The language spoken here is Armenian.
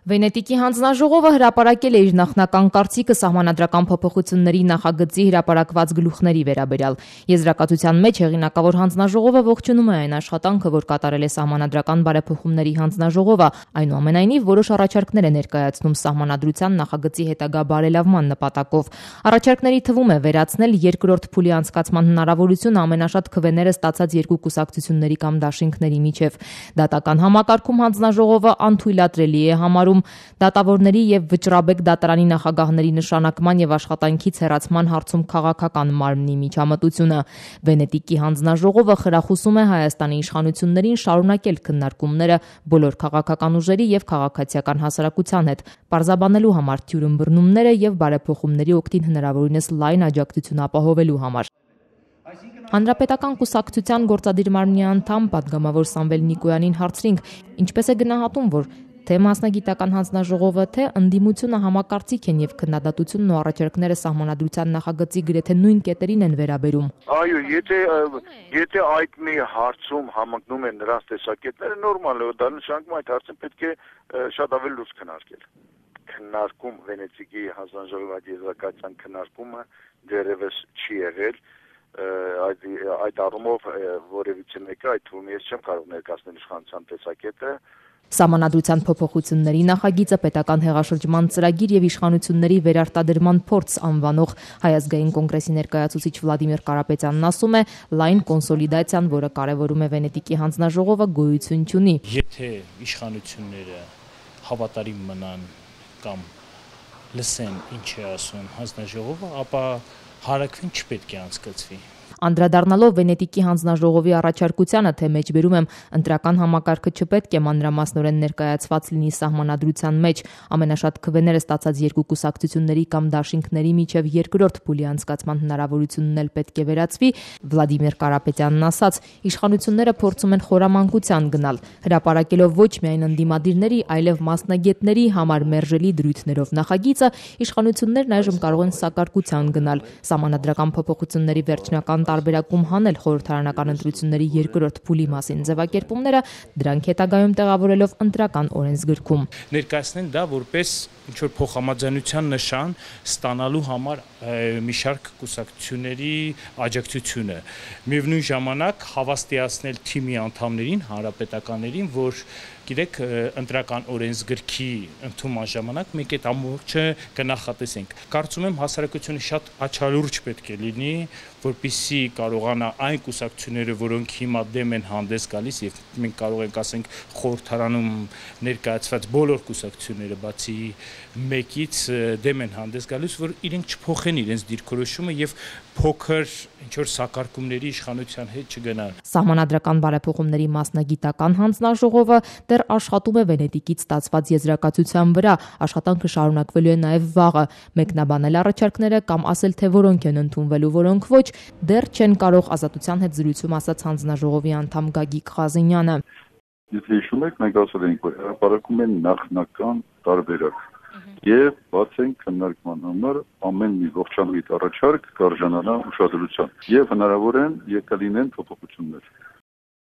Վենետիկի հանձնաժողովը հրապարակել է իր նախնական կարծիքը սահմանադրական փոփոխությունների նախագծի հրապարակված գլուխների վերաբերյալ։ Եզրակացության մեջ հեղինակավոր հանձնաժողովը ողջունում է այն աշխատանքը, որ կատարել է սահմանադրական բարեփոխումների հանձնաժողովը, այնուամենայնիվ որոշ առաջարկներ է ներկայացնում սահմանադրության նախագծի հետագա բարելավման նպատակով։ Առաջարկների թվում է վերացնել երկրորդ փուլի անցկացման հնարավորությունը ամենաշատ քվեները ստացած երկու կուսակցությունների կամ դաշինքների միջև։ Դատական համակարգում հանձնաժողովը անթույլատրելի է համարում դատավորների եւ վճռաբեկ դատարանի նախագահների նշանակման եւ աշխատանքից հեռացման հարցում քաղաքական մարմնի միջամտությունը։ Վենետիկի հանձնաժողովը խրախուսում է Հայաստանի իշխանություններին շարունակել քննարկումները բոլոր քաղաքական ուժերի եւ քաղաքացիական հասարակության հետ, պարզաբանելու համար թյուրըմբռնումները եւ բարեփոխումների օգտին հնարավորինս լայն աջակցություն ապահովելու համար։ Հանրապետական կուսակցության գործադիր մարմնի անդամ պատգամավոր Սամվել Նիկոյանին հարցրինք, ինչպես է գնահատում, որ թե մասնագիտական հանձնաժողովը, թե ընդդիմությունը համակարծիք են եւ քննադատությունն ու առաջարկները սահմանադրության նախագծի գրեթե նույն կետերին են վերաբերում։ Այո, եթե այդ մի հարցում համընկնում են նրանց տեսակետները, նորմալ է, դա նշանակում այդ հարցը պետք է շատ ավելի լուրջ քննարկել։ Քննարկում Վենետիկի հանձնաժողովի եզրակացության քննարկումը դեռևս չի եղել։ Այդ առումով որևիցե մեկը այդ թվում ես չեմ կարող ներկայացնել իշխանության տեսակետը։ Սահմանադրության փոփոխությունների նախագիծը պետական հեղաշրջման ծրագիր եւ իշխանությունների վերարտադրման փորձ անվանող Հայ ազգային կոնգրեսի ներկայացուցիչ Վլադիմիր Կարապետյանն ասում է, լայն կոնսոլիդացիան, որը կարևորում է Վենետիկի հանձնաժողովը, գոյություն չունի։ Եթե իշխանությունները հավատարիմ մնան կամ լսեն ինչ է ասում հանձնաժողովը, ապա հարակվին չպետք է անցկացվի։ Անդրադառնալով Վենետիկի հանձնաժողովի առաջարկությանը, թե մեջբերում եմ ընտրական համակարգը չպետք է մանրամասնորեն ներկայացված լինի սահմանադրության մեջ, ամենաշատ քվեները ստացած երկու կուսակցությունների կամ դաշինքների միջև երկրորդ փուլի անցկացման հնարավորությունն էլ պետք է վերացվի, Վլադիմիր Կարապետյանն ասաց, իշխանությունները փորձում են խորամանկության գնալ, հրապարակելով ոչ միայն ընդդիմադիրների, այլև մասնագետների համար մերժելի դրույթներով նախագիծը, իշխանություններն այժմ կարող են սակարկության գնալ, սահմանադրական փոփոխությունների վերջնական տարբերակում հանել խորհրդարանական ընտրությունների երկրորդ փուլի մասին ձևակերպումները, դրանք հետագայում տեղավորելով ընտրական օրենսգրքում։ Ներկայացնեն դա որպես ինչ-որ փոխհամաձայնության նշան ստանալու համար մի շարք կուսակցությունների աջակցությունը։ Միևնույն ժամանակ հավաստիացնել թիմի անդամներին, հանրապետականներին, որ գիտեք, ընտրական օրենսգրքի ընդունման ժամանակ մենք այդ ամբողջը կնախատեսենք։ Կարծում եմ հասարակությունը շատ աչալուրջ պետք է լինի, որպեսզի կարողանա այն կուսակցությունները, որոնք հիմա դեմ են հանդես գալիս, եւ մենք կարող ենք ասենք խորհրդարանում ներկայացված բոլոր կուսակցությունները բացի մեկից դեմ են հանդես գալիս, որ իրենք չփոխեն իրենց դիրքորոշումը եւ փոքր ինչ-որ սակարկումների իշխանության հետ չգնան։ Սահմանադրական բարեփոխումների մասնագիտական հանձնաժողովը դեռ աշխատում է Վենետիկից ստացված եզրակացության վրա, աշխատանքը շարունակվելու է նաև վաղը, մեկնաբանել առաջարկները կամ ասել, թե որոնք են ընդունվելու, որոնք ոչ, դեռ չեն կարող, Ազատության հետ զրույցում ասաց հանձնաժողովի անդամ Գագիկ Ղազենյանը։ Եթե հիշում եք, մենք ասել ենք, որ հրապարակում են նախնական տարբերակ եւ բացենք քննարկման համար ամեն մի ողջամիտ առաջարկ կարժանանա ուշադրության եւ հնարավոր են եկա լինեն փոփոխություններ։